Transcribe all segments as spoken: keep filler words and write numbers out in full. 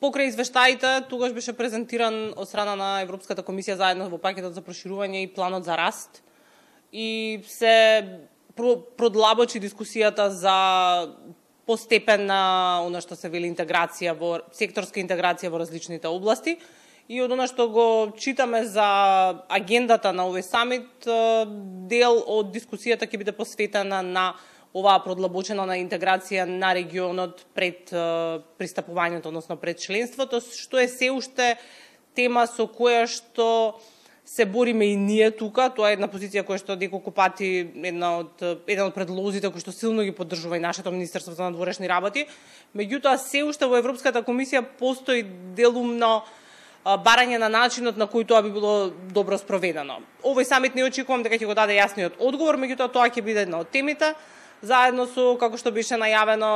Покрај извештаите, тогаш беше презентиран од страна на Европската комисија заедно во пакетот за проширување и планот за раст. И се продлабочи дискусијата за постепенна, она што се вели интеграција во секторска интеграција во различните области. И од она што го читаме за агендата на овој самит, дел од дискусијата ќе биде посветена на оваа продлабочена на интеграција на регионот пред пристапувањето, односно пред членството, што е се уште тема со која што се бориме и ние тука. Тоа е една позиција која што неколку пати една од еден од предлозите кои што силно ги поддржува и нашето Министерство за надворешни работи. Меѓутоа се уште во Европската комисија постои делумно барање на начинот на кој тоа би било добро спроведено. Овој самит не очекувам дека ќе го даде јасниот одговор, меѓутоа тоа ќе биде една од темите, заедно со, како што беше најавено,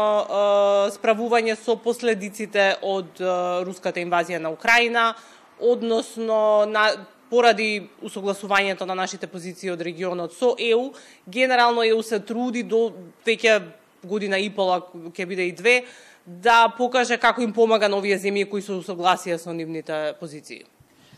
справување со последиците од руската инвазија на Украина, односно на поради усогласувањето на нашите позиции од регионот со Е У. Генерално Е У се труди до веќе година и пола, ќе биде и две, да покаже како им помага на овие земји кои се усогласија со нивните позиции.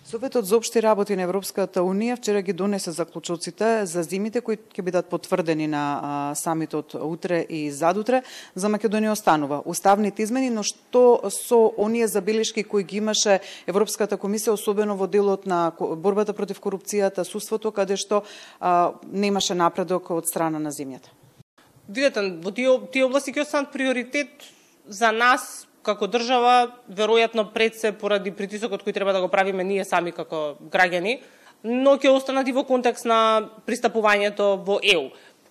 Советот за општи работи на Европската Унија вчера ги донесе заклучоците за зимите кои ќе бидат потврдени на а, самитот утре и задутре. За Македонија останува уставните измени, но што со оние забелешки кои ги имаше Европската комисија, особено во делот на борбата против корупцијата, судството, каде што а, немаше напредок од страна на земјата? Видете, во тие, тие области ќе останат приоритет за нас како држава, веројатно пред се поради притисокот кој треба да го правиме ние сами како граѓани, но ќе останат и во контекст на пристапувањето во Е У.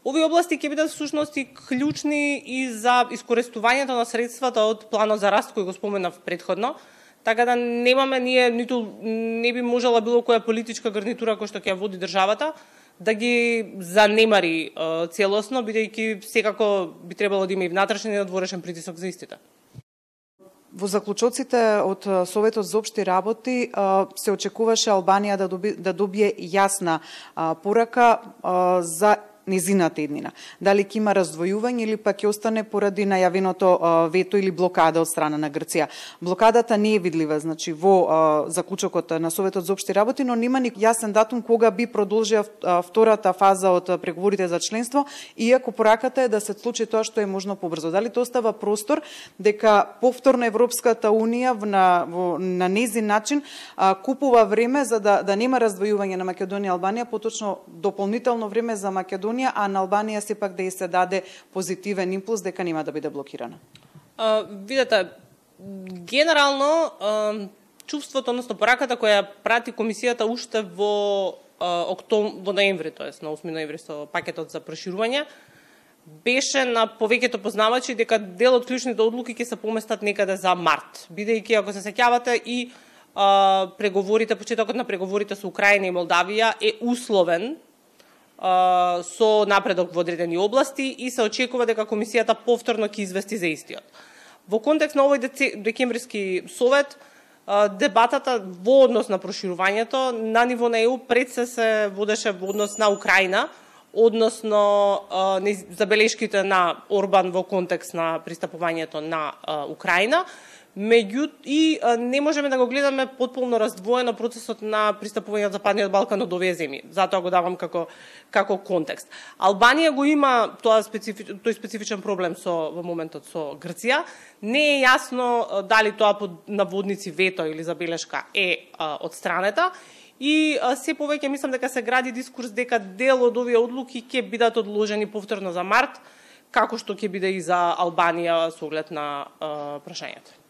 Овие области ќе бидат всушност и клучни и за искористувањето на средствата од планот за раст кој го споменав претходно, така да немаме ние ниту не би можела било која политичка гарнитура која што ќе води државата да ги занемари целосно, бидејќи секако би требало да има и внатрешен и надворешен притисок за истите. Во заклучоците од Советот за општи работи се очекуваше Албанија да, доби, да добие јасна порака за незината еднина. Дали ќе има раздвојување или пак ќе остане поради најавеното вето или блокада од страна на Грција. Блокадата не е видлива, значи во заклучокот на Советот за општи работи, но нема ни јасен датум кога би продолжија втората фаза од преговорите за членство, иако пораката е да се случи тоа што е можно побрзо. Дали тоа остава простор дека повторно Европската Унија на, во, на незин начин купува време за да, да нема раздвојување на Македонија и Албанија, поточно дополнително време за Македонија, а на Албанија сепак да и се даде позитивен импулс дека нема да биде блокирана? А, видете, генерално а, чувството, односно пораката која прати комисијата уште во а, октом, во ноември, тоест на осми ноември со пакетот за проширување, беше на повеќето познавачи дека дел од клучните одлуки ќе се поместат некаде за март, бидејќи ако се сеќавате и а, преговорите, почетокот на преговорите со Украина и Молдавија е условен со напредок во одредени области и се очекува дека комисијата повторно ќе извести за истиот. Во контекст на овој декемвриски совет, дебатата во однос на проширувањето на ниво на Е У пред се се водеше во однос на Украина, односно забелешките на Орбан во контекст на пристапувањето на Украина, меѓу и не можеме да го гледаме потполно раздвоено процесот на пристапување од Западниот Балкан од овие земји. Затоа го давам како како контекст. Албанија го има тоа специфич, тој специфичен проблем со во моментот со Грција. Не е јасно дали тоа под наводници вето или забелешка е а, од странета. И а, се повеќе мислам дека се гради дискурс дека дел од овие одлуки ќе бидат одложени повторно за март, како што ќе биде и за Албанија со оглед на а, прашањето.